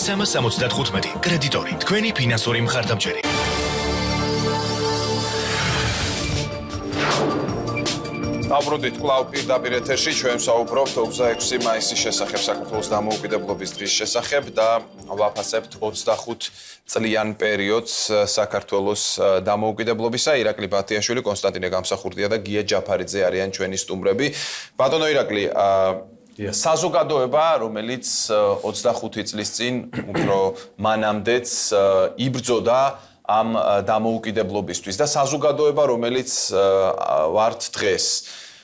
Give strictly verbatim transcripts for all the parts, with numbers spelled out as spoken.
სამას ოცდათხუთმეტი კრედიტორი, თქვენი ფინანსური მხარდამჭერი. Abrudit კვლავ პირდაპირ ეთერში ჩვენ საუბრობთ ოცდაექვსი მაისის შესახებ საქართველოს დამოუკიდებლობის დღის შესახებ და ვაფასებთ ოცდახუთ წლიან პერიოდს საქართველოს დამოუკიდებლობისა. ირაკლი ბათიაშვილი, კონსტანტინე გამსახურდია და გია ჯაფარიძე არიან ჩვენი სტუმრები. ბატონო ირაკლი, საზოგადოება, რომელიც ოცდახუთი წლის წინ უფრო მანამდეც იბრძოდა ამ დამოუკიდებლობისთვის და საზოგადოება, რომელიც ვართ დღეს.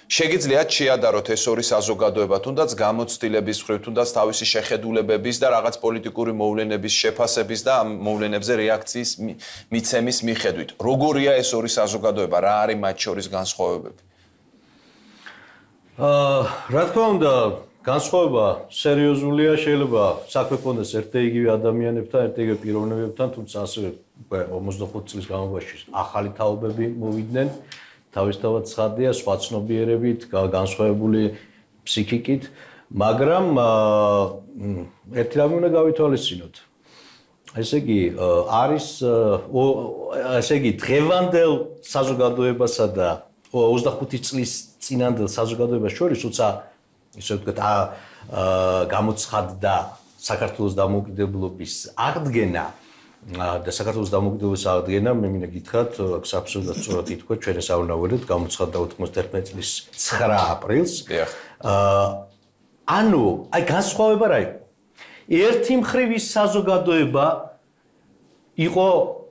შეგიძლიათ შეადაროთ ეს ორი საზოგადოება, თუნდაც გამოცდილების მხრივ, თუნდაც თავისი შეხედულებების და რაღაც პოლიტიკური მოვლენების შეფასების და ამ მოვლენებზე რეაქციის მიცემის მიხედვით. როგორია ეს ორი საზოგადოება, რა არის მათ შორის განსხვავებები? აა, რა თქმა უნდა, განსხვავება სერიოზულია, შეიძლება საქმე ქონდეს ერთ-იგივე ადამიანებთან, ერთ-იგივე პიროვნებებთან, თუმცა ასევე ოცდახუთ წლის განმავლობაში ახალი თაობები მოვიდნენ, თავისთავად ცხადია, სხვა ცნობიერებით, განსხვავებული ფსიქიკით, მაგრამ ერთი რამე უნდა გავითვალისწინოთ. ესე იგი, არის ესე იგი, დღევანდელ საზოგადოებასა და ოცდახუთი წლის წინანდელ საზოგადოებას შორის უცა ისე ვთქვათ, გამოცხადდა საქართველოს დამოუკიდებლობის აღდგენა და საქართველოს დამოუკიდებლობის აღდგენა, მე მინდა გითხრათ, აბსოლუტურად სწორად ითქვა, ჩვენ ეს ავნავერეთ, გამოცხადდა ოთხმოცდაერთმეტი წლის ცხრა აპრილს. ანუ, აი განსხვავება რა იყო? ერთი მხრივ ის საზოგადოება იყო,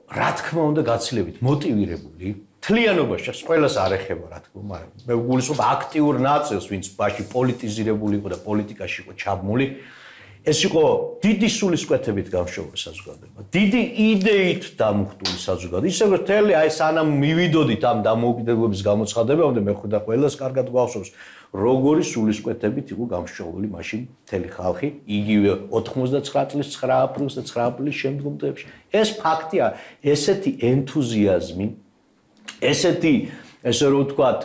რა თქმა უნდა, გაცილებით მოტივირებული. თლიანობაში ყველას არ ეხება, რა თქმა უნდა, მაგრამ მე ვგულისხმობ აქტიურ ნაწილს, ვინც ბაში პოლიტიზირებული იყო და პოლიტიკაში იყო ჩაბმული. ეს იყო დიდი სულისკვეთებით გამშვებული საზოგადოება, დიდი იდეით დამუხტული საზოგადოება. ისე რომ თელი აი სანამ მივიდოდით ამ დამოუკიდებლობის გამოცხადებამდე, მე ხვდა ყველას კარგად გვახსოვს, როგორი სულისკვეთებით იყო გამშვებული მაშინ მთელი ხალხი, იგივე ოთხმოცდაცხრა წლის ცხრა აპრილს და ცხრა აპრილის შემდგომ დღეებში. ეს ფაქტია, ესეთი ენთუზიაზმი, ესეთი, ესე რომ ვთქვათ,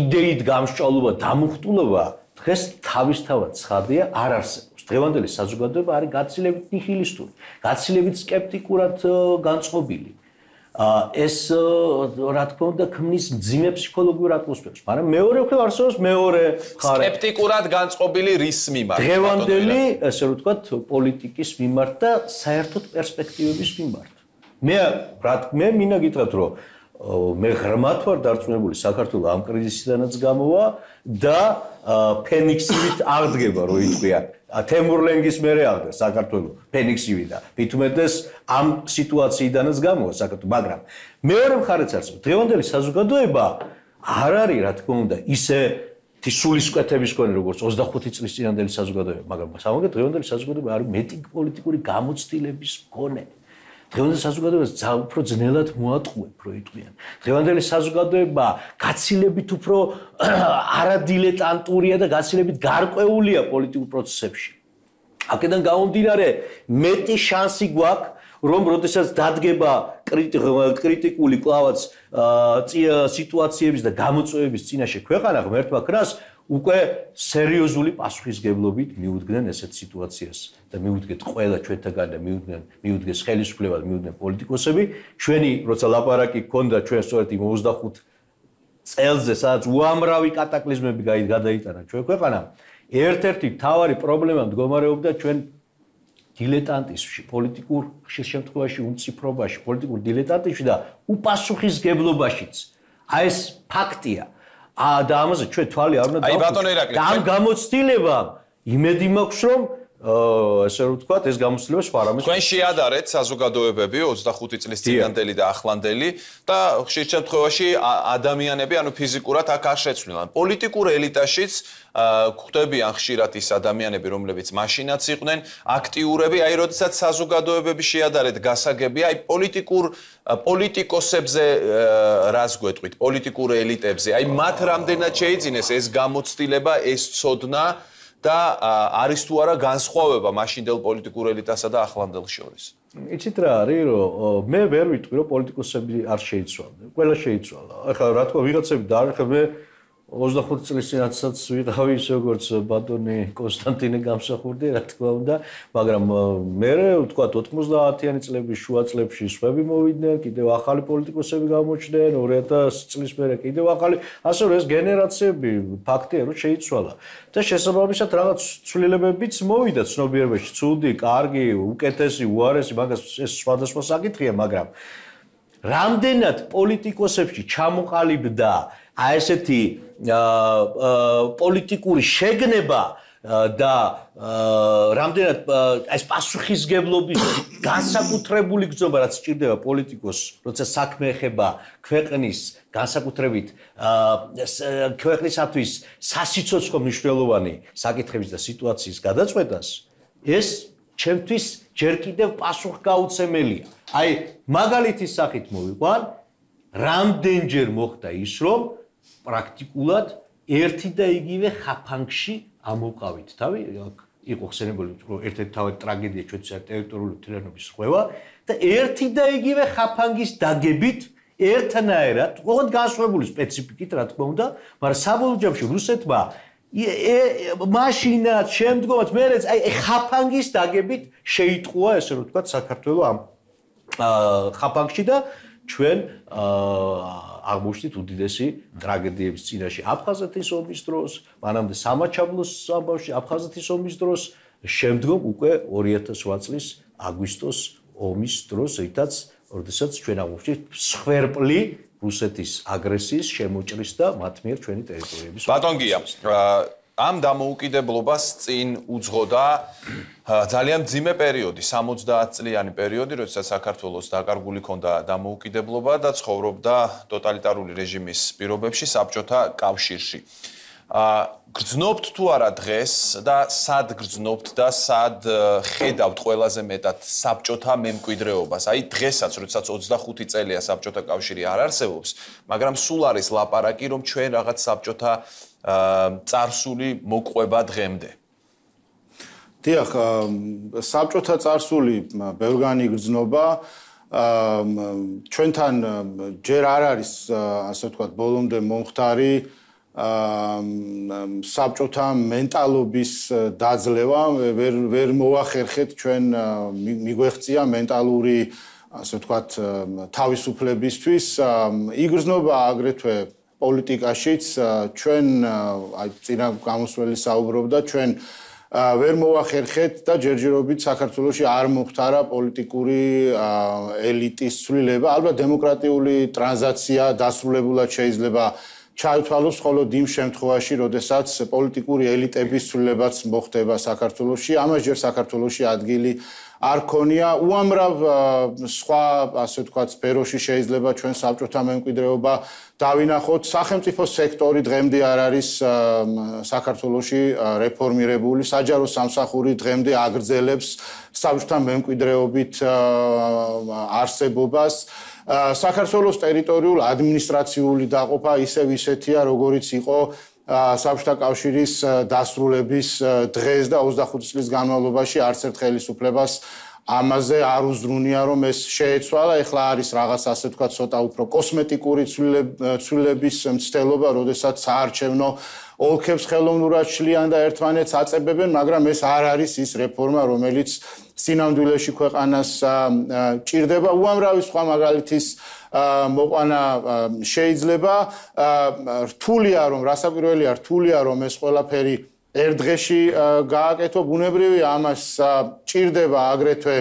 იდეით გამსჭვალობა, დამუხტულობა დღეს თავისთავად ცხადია არ არსებობს. დღევანდელი საზოგადოება არის გაცილებით ნიჰილისტური, გაცილებით სკეპტიკურად განწყობილი. ეს რა თქმა უნდა ქმნის მძიმე ფსიქოლოგიურ ატმოსფეროს, მაგრამ მეორე მხრივ არსებობს მეორე მხარე. სკეპტიკურად განწყობილი რის მიმართ? დღევანდელი, ესე რომ ვთქვათ, პოლიტიკის მიმართ და საერთოდ პერსპექტივების მიმართ. მე რა მე მინდა გითხრათ, რომ მე ღრმად ვარ დარწმუნებული საქართველოს ამ კრიზისიდანაც გამოვა და ფენიქსივით აღდგება, რო იტყვია. თემურლენგის მერე აღდგა საქართველოს ფენიქსივით და მithumetes ამ სიტუაციიდანაც გამოვა საქართველოს, მაგრამ მეორე მხარეც არსებობს. დღევანდელი საზოგადოება არ არის, რა თქმა უნდა, ისე სულისკვეთების მქონე, როგორც ოცდახუთი წლის წინანდელი საზოგადოება, მაგრამ სამაგერ დღევანდელი საზოგადოება არის მეტი პოლიტიკური გამოცდილების მქონე. დღევანდელი საზოგადოებას უფრო ძნელად მოატყუებ, რო იტყვიან. დღევანდელი საზოგადოება გაცილებით უფრო არადილეტანტურია და გაცილებით გარკვეულია პოლიტიკურ პროცესებში. აქედან გამომდინარე, მეტი შანსი გვაქვს, რომ როდესაც დადგება კრიტიკული კლავაც სიტუაციების და გამოწვევების წინაშე ქვეყანა ღმერთმა ქრას, უკვე სერიოზული პასუხისგებლობით მიუდგნენ ესეთ სიტუაციას და მიუდგეთ ყველა ჩვენთაგან და მიუდგნენ მიუდგეს ხელისუფლება და მიუდგნენ პოლიტიკოსები. ჩვენი როცა ლაპარაკი გქონდა ჩვენ სწორედ იმ ოცდახუთ წელზე, სადაც უამრავი კატაკლიზმები გადაიტანა ჩვენ ქვეყანამ, ერთ-ერთი მთავარი პრობლემა მდგომარეობდა ჩვენ დილეტანტიზმში, პოლიტიკურ ხშირ შემთხვევაში უმციფრობაში, პოლიტიკურ დილეტანტიზმში და უპასუხისგებლობაშიც. აი ეს ფაქტია. და ამაზე ჩვენ თვალი არ უნდა დავუყოთ. და ამ გამოცდილებამ იმედი მაქვს, რომ ესე რომ ვთქვათ, ეს გამოცდილება სხვა რამეს. თქვენ შეადარეთ საზოგადოებები ოცდახუთი წლის წინანდელი და ახლანდელი და ხშირ შემთხვევაში ადამიანები, ანუ ფიზიკურად აქ არ შეცვლილან. პოლიტიკურ ელიტაშიც გვხვდებიან ხშირად ის ადამიანები, რომლებიც მაშინაც იყვნენ აქტიურები, აი როდესაც საზოგადოებები შეადარეთ გასაგები, აი პოლიტიკურ პოლიტიკოსებზე რას გვეტყვით, პოლიტიკურ ელიტებზე, აი მათ რამდენად შეიძინეს ეს გამოცდილება, ეს ცოდნა და არის თუ არა განსხვავება მაშინდელ პოლიტიკურ ელიტასა და ახლანდელ შორის? იცით რა არის, რომ მე ვერ ვიტყვი, რომ პოლიტიკოსები არ შეიცვალნენ. ყველა შეიცვალა. ახლა რა თქმა ვიღაცები დაარხებენ ოცდახუთ წლის წინაცაც ვიყავი ისე როგორც ბატონი კონსტანტინე გამსახურდი, რა თქმა უნდა, მაგრამ მე ვთქვათ ოთხმოცდაათიანი წლების შუა წლებში სხვები მოვიდნენ, კიდევ ახალი პოლიტიკოსები გამოჩნდნენ, ორი ათასი წლის მერე კიდევ ახალი, ასე რომ ეს გენერაციები ფაქტია რომ შეიცვალა. და შესაბამისად რაღაც ცვლილებებიც მოვიდა ცნობიერებაში, ცუდი, კარგი, უკეთესი, უარესი, მაგას ეს სხვადასხვა საკითხია, მაგრამ რამდენად პოლიტიკოსებში ჩამოყალიბდა აი ესეთი პოლიტიკური შეგნება და რამდენად ეს პასუხისგებლობის განსაკუთრებული გზნობა რაც სჭირდება პოლიტიკოსს, როცა საქმე ეხება ქვეყნის განსაკუთრებით ქვეყნისათვის სასიცოცხლო მნიშვნელოვანი საკითხების და სიტუაციის გადაწყვეტას, ეს ჩემთვის ჯერ კიდევ პასუხგაუცემელია. აი მაგალითის სახით მოვიყვან, რამდენჯერ მოხდა ის, რომ პრაქტიკულად ერთი და იგივე ხაფანგში ამოვყავით. თავი იყო ხსენებული, რომ ერთ-ერთი თავი ტრაგედია ჩვენთვის ტერიტორიული თლიანობის ხვევა და ერთი და იგივე ხაფანგის დაგებით ერთნაირად, ოღონდ განსხვავებული სპეციფიკით, რა თქმა უნდა, მაგრამ საბოლოო ჯამში რუსეთმა მაშინაც შემდგომაც მერეც აი ხაფანგის დაგებით შეიტყუა, ესე რომ ვთქვათ, საქართველო ამ ხაფანგში და ჩვენ აღმოჩნდით უდიდესი ტრაგედიების წინაშე აფხაზეთის ომის დროს, მანამდე სამაჩაბლოს ამბავში აფხაზეთის ომის დროს, შემდგომ უკვე ორი ათას ოთხ წლის აგვისტოს ომის დროს, რითაც როდესაც ჩვენ აღმოჩნდით სხვერპლი რუსეთის აგრესიის შემოჭრის და მათ მიერ ჩვენი ტერიტორიების. ბატონ გია, ამ დამოუკიდებლობას წინ უძღოდა ძალიან მძიმე პერიოდი, სამოცდაათ წლიანი პერიოდი, როდესაც საქართველოს დაკარგული ჰქონდა დამოუკიდებლობა და ცხოვრობდა ტოტალიტარული რეჟიმის პირობებში საბჭოთა კავშირში. გრძნობთ თუ არა დღეს და სად გრძნობთ და სად ხედავთ ყველაზე მეტად საბჭოთა მემკვიდრეობას? აი დღესაც, როდესაც ოცდახუთი წელია საბჭოთა კავშირი არ არსებობს, მაგრამ სულ არის ლაპარაკი, რომ ჩვენ რაღაც საბჭოთა წარსული მოყვება დღემდე. დიახ, საბჭოთა წარსული ბევრგანი გრძნობა, ჩვენთან ჯერ არ არის, ასე ვთქვათ, ბოლომდე მომხდარი საბჭოთა მენტალობის დაძლევა, ვერ ვერ მოახერხეთ ჩვენ მიგვეღწია მენტალური, ასე ვთქვათ, თავისუფლებისთვის. იგრძნობა აგრეთვე პოლიტიკაშიც, ჩვენ აი წინა გამოსვლელი საუბრობდა, ჩვენ ვერ მოახერხეთ და ჯერჯერობით საქართველოში არ მოხდარა პოლიტიკური ელიტის ცვლილება, ალბათ დემოკრატიული ტრანზიცია დასრულებულად შეიძლება ჩაითვალოს მხოლოდ იმ შემთხვევაში, როდესაც პოლიტიკური ელიტების ცვლილებაც მოხდება საქართველოში, ამას ჯერ საქართველოში ადგილი არ ქონია. უამრავ სხვა, ასე ვთქვათ, სფეროში შეიძლება ჩვენ საბჭოთა მემკვიდრეობა დავინახოთ. სახელმწიფო სექტორი დღემდე არ არის საქართველოში რეფორმირებული, საჯარო სამსახური დღემდე აგრძელებს საბჭოთა მემკვიდრეობით არსებობას. საქართველოს ტერიტორიულ ადმინისტრაციული დაყოფა ისევ ისეთია, როგორიც იყო საბჭოთა კავშირის დასრულების დღეს და ოცდახუთი წლის განმავლობაში არც ერთ ხელისუფლებას ამაზე არ უზრუნია, რომ ეს შეეცვალა. ეხლა არის რაღაც, ასე ვთქვათ, ცოტა უფრო კოსმეტიკური ცვლილების მცდელობა, როდესაც საარჩევნო ოლქებს ხელოვნურად შლიან და ერთმანეთს აწებებენ, მაგრამ ეს არ არის ის რეფორმა, რომელიც სინამდვილეში ქვეყანას ჭირდება. უამრავი სხვა მაგალითის მოყვანა შეიძლება. რთულია, რომ რასაკვირველია, რთულია, რომ ეს ყველაფერი ერთ დღეში გააკეთო. ბუნებრივია, ამას ჭირდება აგრეთვე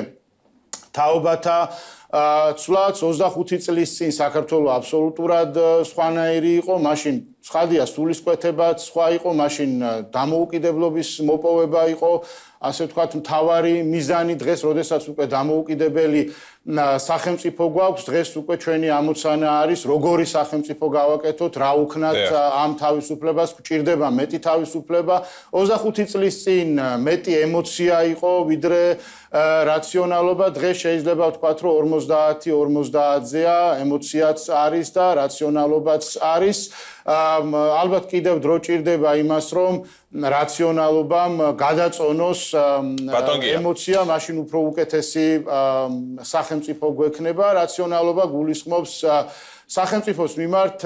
თაობათა ცვლაც. ოცდახუთი წლის წინ საქართველო აბსოლუტურად სხვანაირი იყო, მაშინ ცხადია სულისკვეთებაც სხვა იყო, მაშინ დამოუკიდებლობის მოპოვება იყო, ასე ვთქვათ, მთავარი მიზანი. დღეს, როდესაც უკვე დამოუკიდებელი სახელმწიფო გვაქვს, დღეს უკვე ჩვენი ამოცანა არის, როგორი სახელმწიფო გავაკეთოთ, რა უქნათ ამ თავისუფლებას, გვჭირდება მეტი თავისუფლება. ოცდახუთი წლის წინ მეტი ემოცია იყო, ვიდრე რაციონალობა. დღეს შეიძლება ვთქვათ, რომ ორმოცდაათი ორმოცდაათზეა, ემოციაც არის და რაციონალობაც არის. ალბათ კიდევ დრო ჭირდება იმას, რომ რაციონალობამ გადაწონოს ემოცია, მაშინ უფრო უკეთესი სახელმწიფო გვექნება. რაციონალობა გულისხმობს სახელმწიფოს მიმართ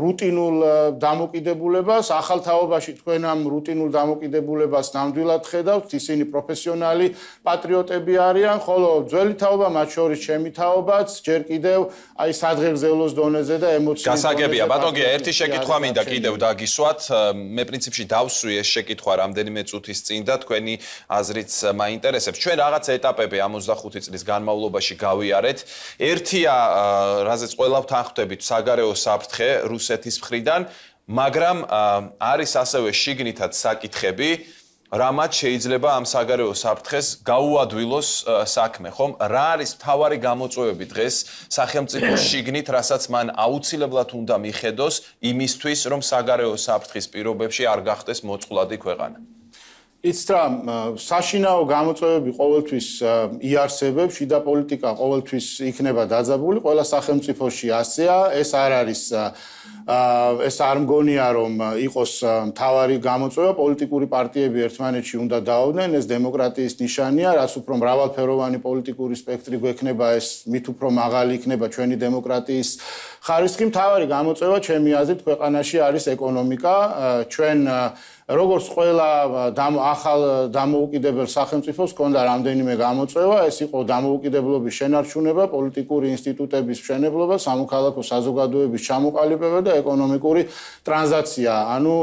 რუტინულ დამოკიდებულებას, ახალ თაობაში თქვენ ამ რუტინულ დამოკიდებულებას ნამდვილად ხედავთ, ისინი პროფესიონალი პატრიოტები არიან, ხოლო ძველი თაობა, მათ შორის ჩემი თაობაც, ჯერ კიდევ აი სადღეგრძელოს დონეზე და ემოციის დონეზე. გასაგებია, ბატონგია, ერთი შეკითხვა მინდა კიდევ დაგისვათ. მე პრინციპში დავსვი ეს შეკითხვა რამდენიმე წუთის წინ და თქვენი აზრიც მაინტერესებს. ჩვენ რაღაც ეტაპები ამ ოცდახუთი წლის განმავლობაში გავიარეთ. ერთია რაზეც ყველა ვთანხმდებით საგარეო საფრთხე რუსეთის მხრიდან, მაგრამ არის ასევე შიგნითად საკითხები, რამაც შეიძლება ამ საგარეო საფრთხეს გაუადვილოს საქმე, ხომ? რა არის მთავარი გამოწვევები დღეს სახელმწიფოს შიგნით, რასაც მან აუცილებლად უნდა მიხედოს იმისთვის, რომ საგარეო საფრთხის პირობებში არ გახდეს მოწყვლადი ქვეყანა? იცით რა, საშინაო გამოწვევები ყოველთვის იარსებებს, შიდა პოლიტიკა ყოველთვის იქნება დაძაბული, ყველა სახელმწიფოში ასეა, ეს არ არის ეს არ მგონია რომ იყოს მთავარი გამოწვევა, პოლიტიკური პარტიები ერთმანეთში უნდა დაავდნენ, ეს დემოკრატიის ნიშანია, რაც უფრო მრავალფეროვანი პოლიტიკური სპექტრი გვექნება, ეს მით უფრო მაღალი იქნება ჩვენი დემოკრატიის ხარისხი. მთავარი გამოწვევა ჩემი აზრით ქვეყანაში არის ეკონომიკა, ჩვენ როგორც ყველა ახალ დამოუკიდებელ სახელმწიფოს ჰქონდა რამდენიმე გამოწვევა, ეს იყო დამოუკიდებლობის შენარჩუნება, პოლიტიკური ინსტიტუტების მშენებლობა, სამოქალაქო საზოგადოების ჩამოყალიბება და ეკონომიკური ტრანზიცია, ანუ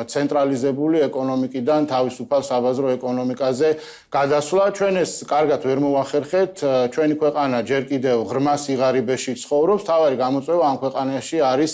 ცენტრალიზებული ეკონომიკიდან თავისუფალ საბაზრო ეკონომიკაზე გადასვლა. ჩვენ ეს კარგად ვერ მოვახერხეთ, ჩვენი ქვეყანა ჯერ კიდევ ღრმა სიღარიბეში ცხოვრობს, თავარი გამოწვევა ამ ქვეყანაში არის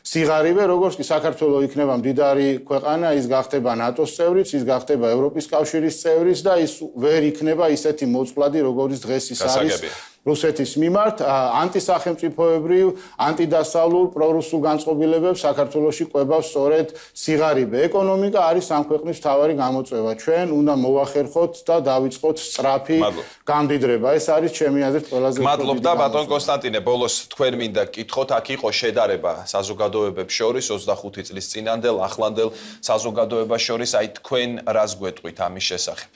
სიღარიბე, როგორც კი საქართველო იქნება მდიდარი ქვეყანა, ის გახდება ნატოს წევრიც, ის გახდება ევროპის კავშირის წევრიც და ის ვერ იქნება ისეთი მოწყვლადი, როგორც დღეს ის არის რუსეთის მიმართ. ანტისახელმწიფოებრივ, ანტიდასავლურ, პრორუსულ განწყობილებებს საქართველოში ყვებავს სწორედ სიღარიბე. ეკონომიკა არის ამ ქვეყნის მთავარი გამოწვევა. ჩვენ უნდა მოვახერხოთ და დავიწყოთ სწრაფი გამდიდრება. ეს არის ჩემი აზრით ყველაზე უფრო მადლობ და ბატონ კონსტანტინე, ბოლოს თქვენ მინდა გკითხოთ, აქ იყო შედარება საზოგადოებებს შორის ოცდახუთი წლის წინანდელ, ახლანდელ საზოგადოებას შორის, აი თქვენ რას გვეტყვით ამის შესახებ?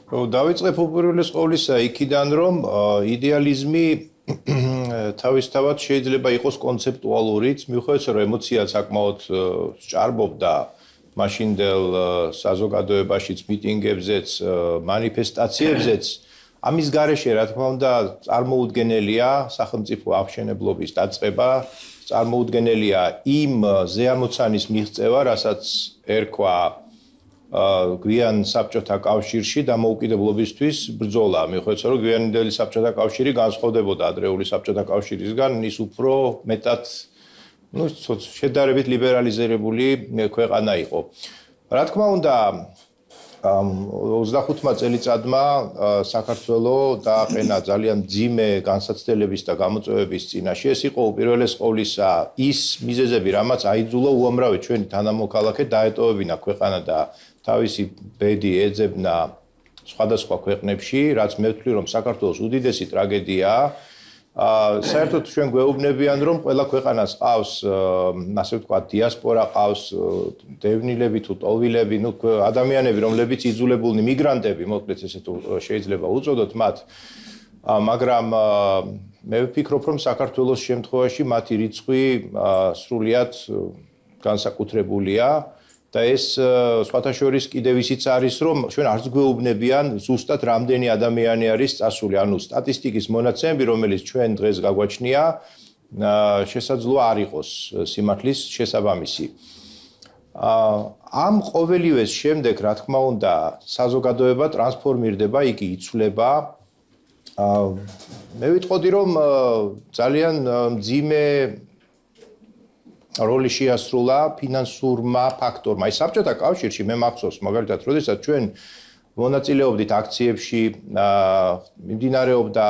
დავიწყებ უპირველეს ყოვლისა იქიდან, რომ იდეალიზმი თავისთავად შეიძლება იყოს კონცეპტუალურიც, მიუხედავად რომ ემოცია საკმაოდ სჭარბობდა მაშინდელ საზოგადოებაშიც, მიტინგებზეც, მანიფესტაციებზეც, ამის გარეშე, რა თქმა უნდა, წარმოუდგენელია სახელმწიფო აღშენებლობის დაწყება, წარმოუდგენელია იმ ზეამოცანის მიღწევა, რასაც ერქვა გვიან საბჭოთა კავშირში დამოუკიდებლობისთვის ბრძოლა. მიუხედავად რომ გვიანდელი საბჭოთა კავშირი განსხვავდებოდა ადრეული საბჭოთა კავშირისგან, ის უფრო მეტად, ну, შედარებით ლიბერალიზებული ქვეყანა იყო. რა თქმა უნდა, ოცდახუთმა წელიწადმა საქართველოს დააყენა ძალიან მძიმე განსაცდელების და გამოწვევების წინაშე. ეს იყო უპირველეს ყოვლისა ის მიზეზები, რამაც აიძულა უამრავი ჩვენი თანამოქალაქე დაეტოვებინა ქვეყანა და თავისი ბედი ეძებნა სხვადასხვა ქვეყნებში, რაც მე ვთვლი, რომ საქართველოს უდიდესი ტრაგედიაა. საერთოდ ჩვენ გვეუბნებიან, რომ ყველა ქვეყანას ყავს, ასე ვთქვათ, დიასპორა ყავს, დევნილები თუ ტოლვილები, ну, ადამიანები, რომლებიც იძულებულნი მიგრანტები, მოკლედ ესე თუ შეიძლება უწოდოთ მათ, მაგრამ მე ვფიქრობ, რომ საქართველოს შემთხვევაში მათი რიცხვი სრულიად განსაკუთრებულია. და ეს სხვათა შორის კიდევ ისიც არის, რომ ჩვენ არც გვეუბნებიან ზუსტად რამდენი ადამიანი არის წასული, ანუ სტატისტიკის მონაცემები, რომელიც ჩვენ დღეს გაგვაჩნია, შესაძლოა არ იყოს სიმართლის შესაბამისი. ამ ყოველივეს შემდეგ, რა თქმა უნდა, საზოგადოება ტრანსფორმირდება, იგი იცვლება. მე ვიტყოდი, რომ ძალიან მძიმე როლი შეასრულა ფინანსურმა ფაქტორმა. აი საბჭოთა კავშირში მე მახსოვს, მაგალითად, როდესაც ჩვენ მონაწილეობდით აქციებში, მიმდინარეობდა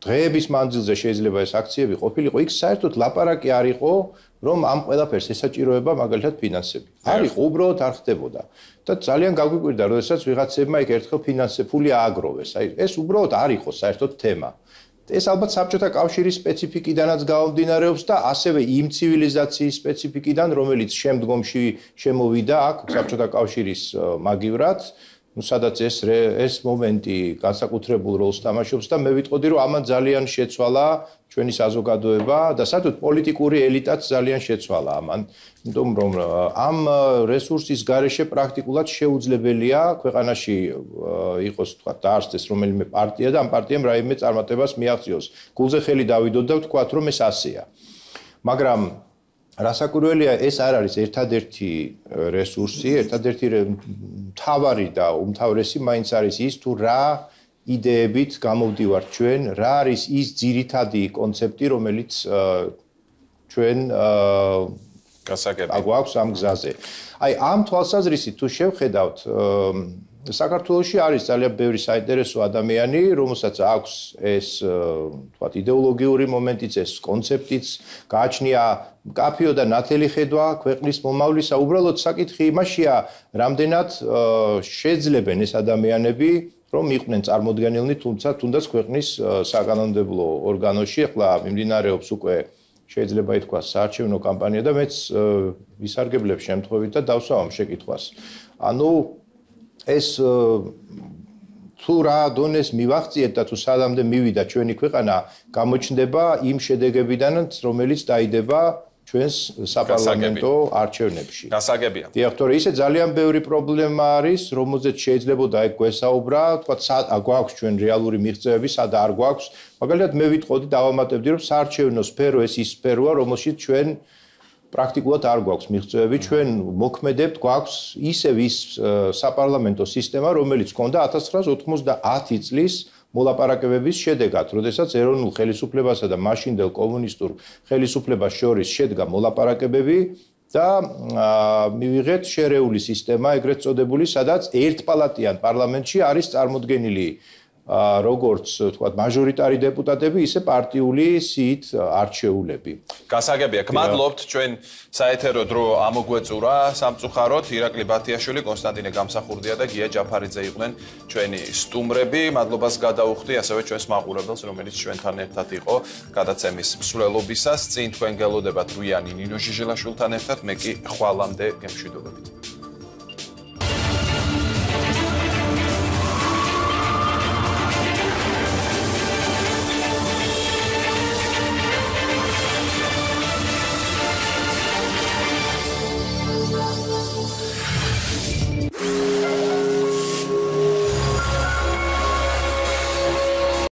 დღეების მანძილზე შეიძლება ეს აქციები ყოფილიყო, იქ საერთოდ ლაპარაკი არ იყო, რომ ამ ყველაფერს ესაჭიროება მაგალითად ფინანსები. არ იყო, უბრალოდ არ ხდებოდა. და ძალიან გაგვიკვირდა, როდესაც ვიღაცებმა იქ ერთხელ ფინანსები ფული ააგროვეს. აი ეს უბრალოდ არ იყო საერთოდ თემა. ეს ალბათ საბჭოთა კავშირის სპეციფიკიდანაც გამომდინარეობს და ასევე იმ ცივილიზაციის სპეციფიკიდან, რომელიც შემდგომში შემოვიდა აქ საბჭოთა კავშირის მაგივრად, ну სადაც ეს ეს მომენტი განსაკუთრებულ როლს თამაშობს და მე ვიტყოდი რომ ამან ძალიან შეცვალა ჩვენი საზოგადოება და საერთოდ პოლიტიკური ელიტაც ძალიან შეცვალა ამან, იმიტომ რომ ამ რესურსის გარეშე პრაქტიკულად შეუძლებელია ქვეყანაში იყოს თქვა დაარსდეს რომელიმე პარტია და ამ პარტიამ რაიმე წარმატებას მიაღწიოს. გულზე ხელი დავიდოთ და ვთქვათ რომ ეს ასეა. მაგრამ რასაკვირველია ეს არ არის ერთადერთი რესურსი, ერთადერთი მთავარი და უმთავრესი მაინც არის ის თუ რა იდეებით გამოვდივართ ჩვენ, რა არის ის ძირითადი კონცეფტი, რომელიც ჩვენ გასაგები აგვაქვს ამ გზაზე. აი ამ თვალსაზრისით თუ შევხედავთ საქართველოში არის ძალიან ბევრი საინტერესო ადამიანი, რომელსაც აქვს ეს თქვათ იდეოლოგიური მომენტიც, ეს კონცეფტიც, გააჩნია კაფიო და ნათელი ხედვა ქვეყნის მომავლისა. უბრალოდ საკითხი იმაშია, რამდენად შეძლებენ ეს ადამიანები რომ იყვნენ წარმოდგენილნი, თუმცა თუნდაც ქვეყნის საკანონმდებლო ორგანოში. ახლა მიმდინარეობს უკვე შეიძლება ითქვას საარჩევნო კამპანია და მეც ვისარგებლებ შემთხვევით და დავსვა ამ შეკითხვას. ანუ ეს თუ რა დონეს მივახციეთ და თუ სადამდე მივიდა ჩვენი ქვეყანა, გამოჩნდება იმ შედეგებიდანაც, რომელიც დაიდება ჩვენს საპარლამენტო არჩევნებში. გასაგებია. დიახ, თორე ისე ძალიან ბევრი პრობლემა არის, რომელზეც შეიძლებოდა ეგ გვესაუბრა, თქვა სად აგვაქვს ჩვენ რეალური მიღწევები, სად არ გვაქვს. მაგალითად მე ვიტყოდი დავამატებდი, რომ საარჩევნო სფერო ეს ის სფეროა, რომელშიც ჩვენ პრაქტიკულად არ გვაქვს მიღწევები, ჩვენ მოქმედებთ, გვაქვს ისევ ის საპარლამენტო სისტემა, რომელიც ჰქონდა ათას ცხრაასი ოთხმოცდაათი წლის მოლაპარაკებების შედეგად, როდესაც ეროვნულ ხელისუფლებასა და მაშინდელ კომუნისტურ ხელისუფლებას შორის შედგა მოლაპარაკებები და მივიღეთ შერეული სისტემა, ეგრეთ წოდებული, სადაც ერთპალატიან პარლამენტში არის წარმოდგენილი როგორც თქვათ მაჟორიტარი დეპუტატები, ისე პარტიული სიით არჩეულები. გასაგებია, გმადლობთ ჩვენ საეთერო დრო ამოგვეწურა სამწუხაროდ ირაკლი ბათიაშვილი, კონსტანტინე გამსახურდია და გია ჯაფარიძე იყვნენ ჩვენი სტუმრები. მადლობას გადაუხდი ასევე ჩვენს მაყურებელს, რომელიც ჩვენთან ერთად იყო გადაცემის მსვლელობისას. წინ თქვენ გელოდებათ რუიანი ნინო ჟიჟელაშვილთან ერთად, მე კი ხვალამდე გემშვიდობებით.